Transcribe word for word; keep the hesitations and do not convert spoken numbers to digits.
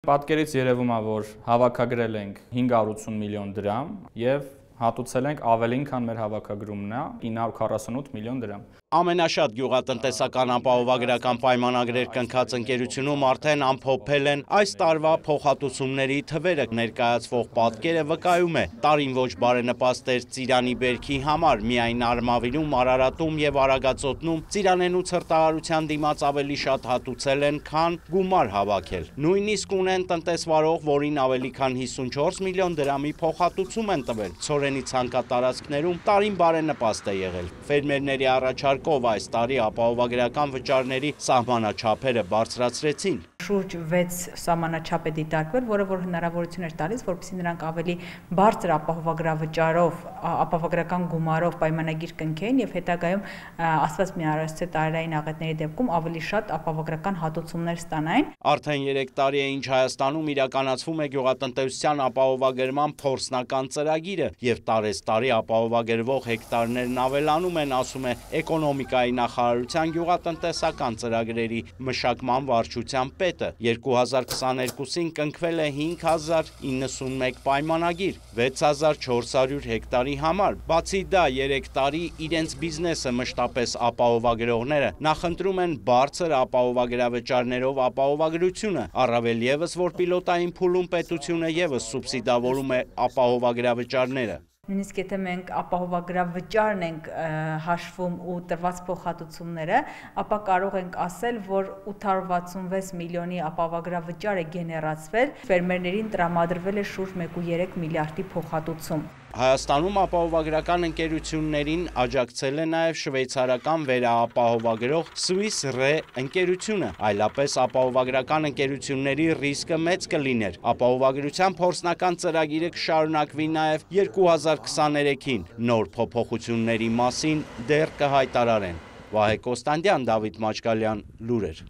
Պատկերից երևում է, որ հավաքագրել ենք հինգսուն ութ միլիոն դրամ եւ հատուցել ենք ավելին, քան մեր հավաքագրումն է, ինը հարյուր քառասունութ միլիոն դրամ։ Ամենաշատ գյուղատնտեսական ապահովագրական պայմանագրեր կնքած ընկերությունում արդեն ամփոփել են այս տարվա փոխհատուցումների թվերը, ներկայացվող պատկերը վկայում է, տարին ոչ բարենպաստ էր Ծիրանի բերքի համար, միայն Արմավիրում, Արարատում եւ Արագածոտնում ծիրանենու ցրտահարության դիմաց ավելի շատ հատուցել են, քան գումար հավաքել։ Նույնիսկ ունեն տնտեսվարող, որին ավելի քան հիսունչորս միլիոն դրամի փոխհատուցում են տվել։ Ցորենի ցանկատարածքներում տարին բարենպաստ է եղել։ Ֆերմերների առաջարկով այս տարի ապահովագրական վճարների սահմանաչափերը բարձրացրեցին։ Շուրջ վեց սահմանաչափ է դիտարկվել, որը որ հնարավորություն էր տալիս, որպեսզի նրանք ավելի բարձր ապահովագրավճարով, ապահովագրական գումարով պայմանագիր կնքեին եւ հետագայում ասված մի առասցե տարերային աղետների դեպքում ավելի շատ ապահովագրական հատուցումներ ստանային։ Արդեն երեք տարի է ինչ Հայաստանում իրականացվում է գյուղատնտեսության ապահովագրման փորձնական ծրագիրը եւ տարեստարի ապահովագրվող հեկտարներն ավելանում են, ասում է Էկոնոմիկայի նախարարության գյուղատնտեսական ծրագրերի մշակման վարչության պետը։ երկու հազար քսաներկուսին կնքվել է հինգ հազար իննսունմեկ պայմանագիր վեց հազար չորս հարյուր հեկտարի համար։ Բացի դա, երեք տարի իրենց բիզնեսը մշտապես ապահովագրողները նախընտրում են բարձր ապահովագրավճարներով ապահովագրությունը, առավել եւս, որ պիլոտային փուլում պետությունը եւս սուբսիդավորում է ապահովագրավճարները։ Նույնիսկ եթե մենք ապահովագրավճարն ենք հաշվում ու տրված փոխհատուցումները, ապա կարող ենք ասել, որ ութ հարյուր վաթսունվեց միլիոնի ապահովագրավճար է գեներացվել, ֆերմերներին տրամադրվել է շուրջ մեկ կողմը երեք միլիարդի փոխհատուցում։ Հայաստանում ապահովագրական ընկերություններին աջակցել է նաև շվեյցարական վերաապահովագրող Swiss Re ընկերությունը, այլապես ապահովագրական ընկերությունների ռիսկը մեծ կլիներ։ Ապահովագրության փորձնական ծրագիրը կշարունակվի նաև երկու հազար քսաներեքին, նոր փոփոխությունների մասին դեռ կհայտարարեն։ Վահե Կոստանդյան, Դավիթ Մաչկալյան, լուրեր։